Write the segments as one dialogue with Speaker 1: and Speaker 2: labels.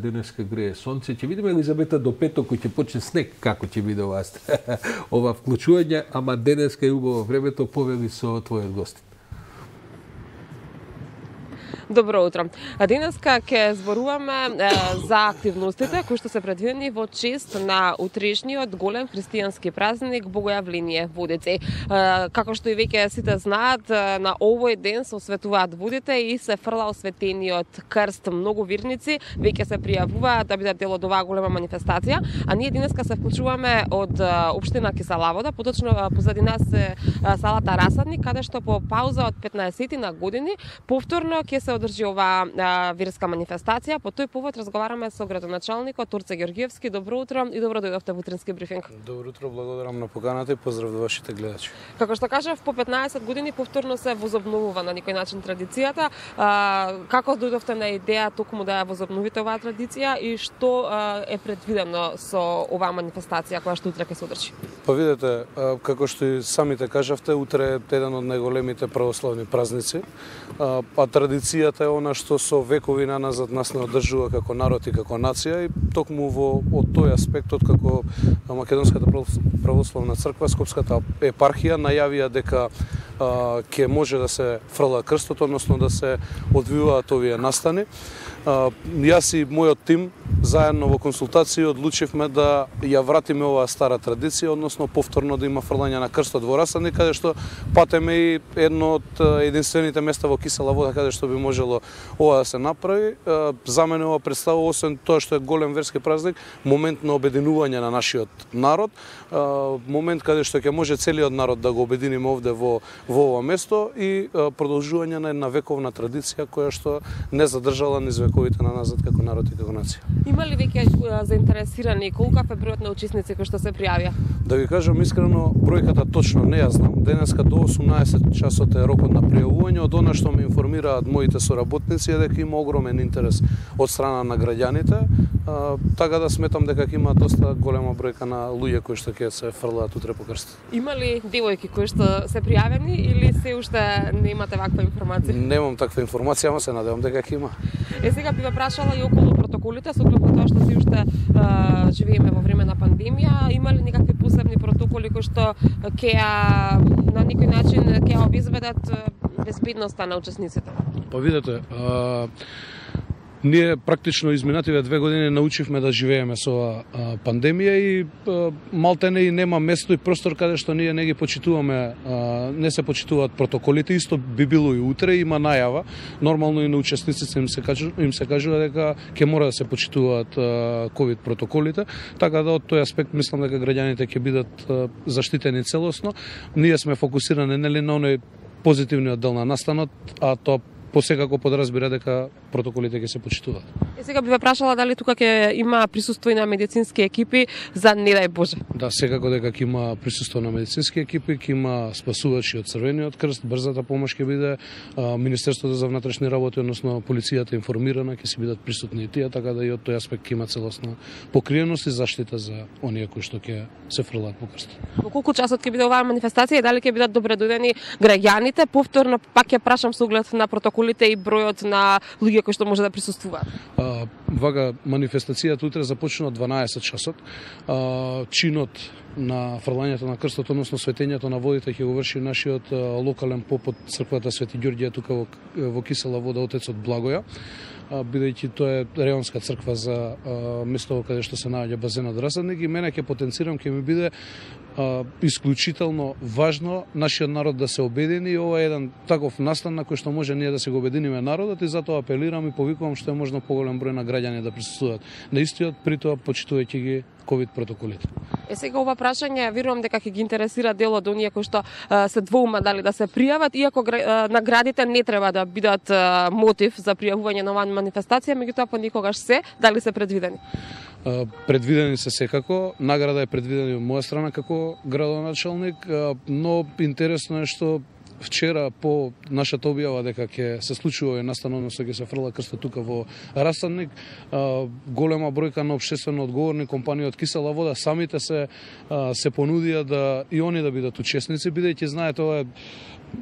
Speaker 1: Денеска грее сонце. Ќе видиме Елизабета до петок кој ќе почне снег како ќе биде ова вклучување, ама денеска е убаво времето, повели со твојот гостин.
Speaker 2: Добро утро. Денеска ќе зборуваме за активностите кои што се предвидени во чест на утрешниот голем христијански празник Богојавление водици. Како што и веќе сите знаат, на овој ден се осветуваат водите и се фрла осветениот крст. Многу верници веќе се пријавуваат да бидат дел од оваа голема манифестација, а ние денеска се вклучуваме од општина Киселавода, поточно позади нас е салата Расадник, каде што по пауза од 15 на години повторно ќе се одржи оваа верска манифестација. По тој повод разговараме со градоначалникот Турце Ѓорѓиевски. Добро утро и добро дојдовте во утрински брифинг.
Speaker 3: Добро утро, благодарам на поканата и поздрав до вашите гледачи.
Speaker 2: Како што кажав, по 15 години повторно се возобновува на некој начин традицијата. Како дојдовте на идеја токму да ја возобновите оваа традиција и што е предвидено со оваа манифестација која што утре ќе се одржи?
Speaker 3: Па видете, како што и самите кажавте, утре е еден од најголемите православни празници, а традицијата е она што со векови наназад нас не одржува како народ и како нација, и токму од тој аспект, од како Македонската православна црква, Скопската епархија најавија дека ќе може да се фрла крстот, односно да се одвиваат овие настани. Јас и мојот тим заедно во консултации одлучивме да ја вратиме оваа стара традиција, односно повторно да има фрлање на крстот во Расадник, каде што патеме и едно од единствените места во Кисела вода каде што би можело ова да се направи. За мене ова представува, освен тоа што е голем верски празник, момент на обединување на нашиот народ, момент каде што ќе може целиот народ да го обединиме овде во ова место и продолжување на една вековна традиција која што не задржала низ вековите на назад како народ и како нација.
Speaker 2: Има ли веќе заинтересирани, колку е бројот на учесници кои што се пријавија?
Speaker 3: Да ви кажам искрено, бројката точно не ја знам. Денеска до 18 часот е рокот на пријавување. Од она што ме информираат моите соработници е дека има огромен интерес од страна на граѓаните, така да сметам дека има доста голема бројка на луѓе кои што ќе се фрлаат утре по крст.
Speaker 2: Има ли девојки кои што се пријавени или се уште не имате ваква информација?
Speaker 3: Немам таква информација, ама се надевам дека ќе има.
Speaker 2: Сега би ве прашала и околу протоколите, со оглед на тоа што се уште живееме во време на пандемија, има ли некакви посебни протоколи кои што ќе на некој начин ќе обезбедат безбедноста на учесниците?
Speaker 3: Па видете, ние практично изминативе 2 години научивме да живееме со оваа пандемија и малтене и нема место и простор каде што ние не ги почитуваме, не се почитуваат протоколите. Исто би било и утре, има најава. Нормално и на учесниците им се кажува дека ќе мора да се почитуваат ковид протоколите, така да од тој аспект мислам дека граѓаните ќе бидат заштитени целосно. Ние сме фокусирани нели на оној позитивниот дел на настанот, а тоа посекако подразбира дека протоколите ќе се почитуваат.
Speaker 2: Сега би ве прашала дали тука ќе има присуство и на медицински екипи за не дај Боже.
Speaker 3: Да, секако дека ќе има присуство на медицински екипи, ќе има спасувачи од Црвениот крст, брзата помош ќе биде, Министерството за внатрешни работи, односно полицијата информирана, ќе си бидат присутни и тие, така да и од тој аспект ќе има целосна покриеност и заштита за оние кои што ќе се фрлаат по крстот.
Speaker 2: Во колку часот ќе биде оваа манифестација и дали ќе бидат добредојдени граѓаните? Повторно пак ќе прашам со оглед на протоколите и бројот на луѓе кои што може да присуствуваат.
Speaker 3: Вага манифестацијата утре започна од 12 часот. Чинот на фрлањето на крстот, односно светењето на водите, ќе го врши нашиот локален поп од црквата Свети Ѓорѓе тука во Кисела вода, отецот Благоја, бидејќи тоа е реонска црква за местото каде што се наоѓа базенот Расадник, и мене ќе потенцирам, ќе ми биде исклучително важно нашиот народ да се обедини, и ова е еден таков настан на кој што може ние да се го обединиме народот, и затоа апелирам и повикувам што е можно поголем број на граѓани да присуствуваат на истиот, при тоа почитувајќи ги ковид протоколите.
Speaker 2: Сега ова прашање верувам дека ќе ги интересира дел од оние кои што се двоума дали да се пријават, иако наградите не треба да бидат мотив за пријавување на оваа манифестација, меѓутоа понекогаш се, дали се предвидени?
Speaker 3: Предвидени се секако, награда е предвидена од моја страна како градоначалник, но интересно е што вчера по нашата објава дека ќе се случува и настан, односно ќе се фрла крстот тука во Расадник, голема бројка на општествено одговорни компании од Кисела вода самите се понудија да и они да бидат учесници, бидејќи знаете ова е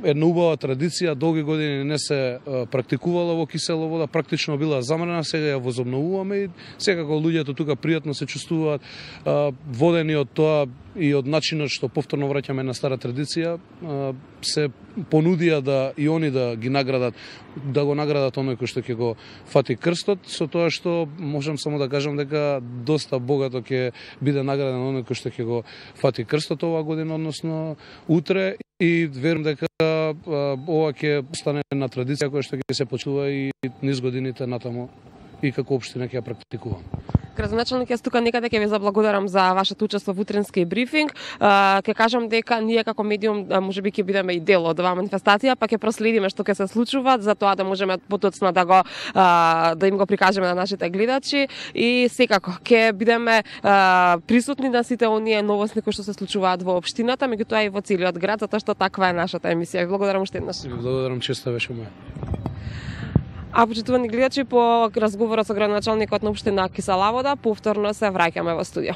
Speaker 3: една убава традиција, долги години не се практикувала во кисела вода, практично била замрена, сега ја возобновуваме и секако луѓето тука пријатно се чувствуваат водени од тоа и од начинот што повторно враќаме на стара традиција, се понудија да и они да ги наградат, да го наградат оној кој што ќе го фати крстот, со тоа што можам само да кажам дека доста богато ќе биде награден оној кој што ќе го фати крстот оваа година, односно утре, и верувам дека ова ќе стане една традиција која што ќе се почува и низ годините натаму и како општина ќе ја практикувам.
Speaker 2: Градоначалник, јас тука некаде ќе ви заблагодарам за вашето учество во утренски брифинг. Ќе кажам дека ние како медиум можеби ќе бидеме и дел од оваа манифестација, па ќе проследиме што ќе се случува, за тоа да можеме потоцно да им го прикажеме на нашите гледачи и секако ќе бидеме присутни на сите оние новости кои што се случуваат во општината, меѓутоа и во целиот град, затоа што таква е нашата емисија. Благодарам уште еднаш.
Speaker 3: Благодарам, честа беше моја.
Speaker 2: А почитувани гледачи, по разговорот со градоначалникот на општина Киселавода, повторно се враќаме во студио.